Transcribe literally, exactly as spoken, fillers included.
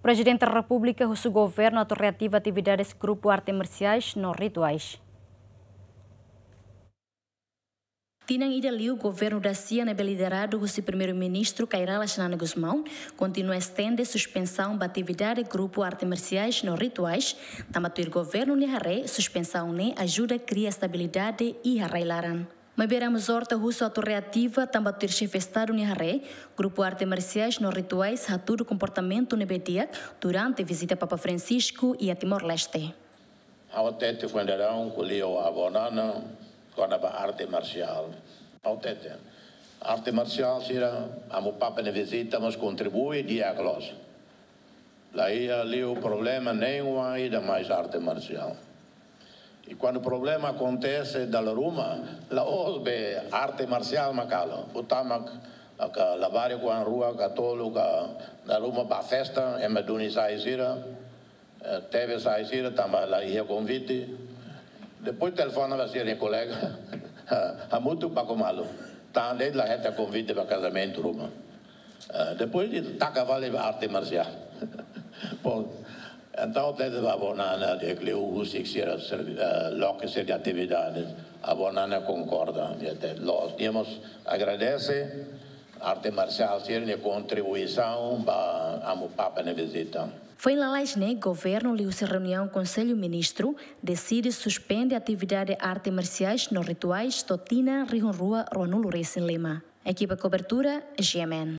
Prezidente Repúblika husu governu atu reativa atividades grupu arte marsiais no rituais. Tinan ida liu governu dasia ne'ebé lideradu husi Primeiru-Ministru Kay Rala Xanana Gusmão kontinua estende suspensaun ba atividade grupu arte marsiais no rituais, tanba tuir governu nia haree suspensaun ne'e ajuda kria estabilidade iha rai-laran. Maibé Ramos Horta husu atu reativa tanba tuir xefe Estadu nia haree grupu arte marsiais no rituais hatudu komportamentu ne'ebé di'ak durante vizita Papa Francisco iha Timor-Leste. Ha'u hatete foin daudaun ko'alia ho Avó Nana kona-ba arte marsiál. Ha'u hatete, arte marsiál sira, Amu Papa nia vizita mós kontribui di'ak loos. La iha liu problema nein ida mais arte marsiál. I kuandu problema akontese dala ruma, la'ós be arte marsiál mak halo. Buat mak, ka labarik oan rua ka tolu ka dala ruma ba festa, ema duni sai sira, eh, tebe sai sira, tanba la iha konvite. Depois telefona ba sira-nia kolega, hamutuk baku malu. Tan de'it la hetan konvite ba kazamentu ruma. Eh, depois ita taka fali ba arte marsiál. Bon, entaun, hatete ba Avó Nana, di'ak liu husik sira servi-, eh, loke sira-nia atividade. Avó Nana konkorda, nia hatete loos. Nia mós agradese arte marsiál sira-nia kontribuisaun ba Amu Papa nia vizita. Foin lalais ne'e, governu liuhusi reuniaun Konsellu Ministru deside suspende atividade arte marsiais no rituais to'o tinan rihun rua ruanulu resin lima. Ekipa kobertura, G M N.